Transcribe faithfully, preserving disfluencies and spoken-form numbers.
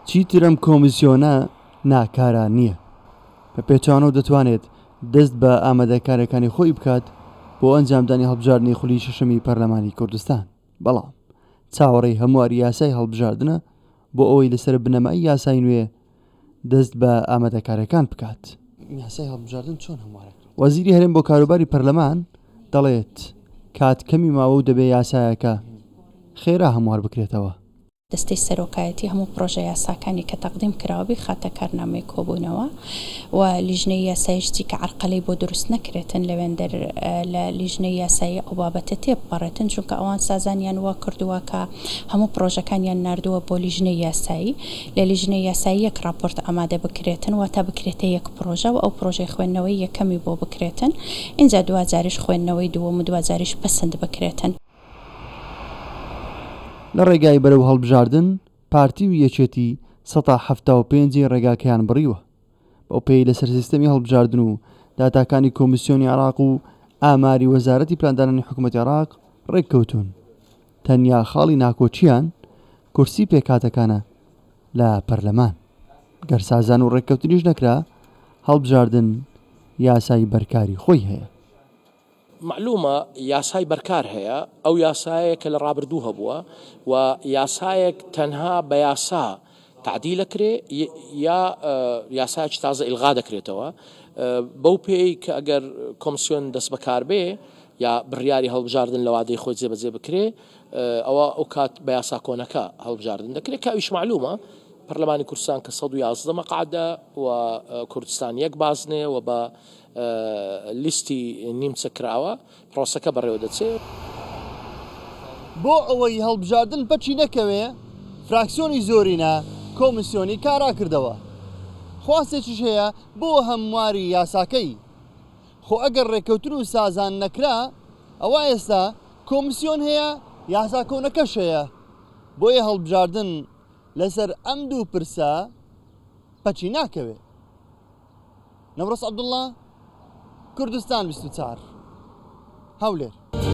چیتر ئەم کۆمیسیۆنە ناکارا نییە، بە پێچەوانەوە دەتوانێت دەست بە ئامادەکاریەکانی خۆی بکات بۆ ئەنجامدانی هەڵبژاردنی خولی شەشەمی پەرلەمانی کوردستان، بەڵام چاوەڕێی هەمواری یاسای هەڵبژاردنە بۆ ئەوەی لەسەر بنەمای یاسای نوێ دەست بە ئامادەکاریەکان بکات. یاسای هەڵبژاردن چۆن هەموارەکرێت؟ وەزیری هەرێم بۆ کاروباری پەرلەمان دەڵێت کات کەمی ماوە و دەبێ یاسایەکە خێرا هەموار بکرێتەوە. دەستەی سەرۆکایەتی هەموو پرۆژە یاساکانی کە تەقدیم کراوە بیخاتە کارنامەی کۆبوونەوە و لیژنەی یاسایشتی کە عەرقەلەی بۆ دروست نەکرێتن لەوێندەر لە لیژنەی یاسایی ئەو بابەتە تێبپەڕێتن، چونکە ئەوان سازانیان وا کردووە کە هەموو پرۆژەکانیان ناردووە بۆ لیژنەی یاسایی، لە لیژنەی یاسایی یەک راپۆرت ئامادە بکرێتن، واتە بکرێتە یەک پرۆژە و ئەو پرۆژەی خوێندنەوەی یەکەمی بۆ بکرێتن، ئینجا دواجاریش خوێندنەوەی دووەم و دواجاریش پەسند بکرێتن. لە ڕێگای بەرەو هەڵبژاردن پارتی و یەکێتی سەتا حەفتا و پێنجی ڕێگاکەیان بڕیوە، بەو پێی لەسەر سیستەمی هەڵبژاردن و داتاکانی کۆمیسیۆنی عێراق و ئاماری وەزارەتی پلاندانانی حکوومەتی عێراق ڕێککەوتون. تەنیا خاڵی ناکۆچیان کورسی پێکهاتەکانە لە پەرلەمان. گەر سازان و ڕێککەوتنیش نەکرا، هەڵبژاردن یاسای بەرکاری خۆی هەیە. معلومە یاسای بەرکار هەیە، ئەو یاسایە کە لە ڕابردوو هەبووە و یاسایەک تەنها بە یاسا تعدیل دەکرێ یا یاسایەکی تازە ئیلغا دەکرێتەوە، بەو پێی کە ئەگەر کۆمسیۆن دەست بەکار بێ یا بڕیاری هەڵبژاردن لە وادەی خۆی جێبەجێ بکرێ، ئەوە ئەو کات بە یاسا کۆنەکە هەڵبژاردن دەکرێت کە ئەویش معلومە پەرلەمانی کوردستان کە سەد و یازدە مەقعدە و کوردستان یەک بازنێ و بە لیستی نیمچە کراوە پرۆسەکە بەڕێوە دەچێت. بۆ ئەوەی هەڵبژاردن پەچی نەکەوێ، فراکسیۆنی زۆرینە کۆمیسیۆنی کارا کردەوە. خواستێکیش هەیە بۆ هەمواری یاساکەی. خۆ ئەگەر ڕێککەوتن و سازان نەکرا، ئەوە ئێستا کۆمیسیۆن هەیە، یاسا کۆنەکەش هەیە. بۆیە هەڵبژاردن لەسەر ئەم دوو پرسە پەچی ناکەوێ. نەورۆز عەبدوڵڵا، کوردستان بیست و چوار، هەولێر.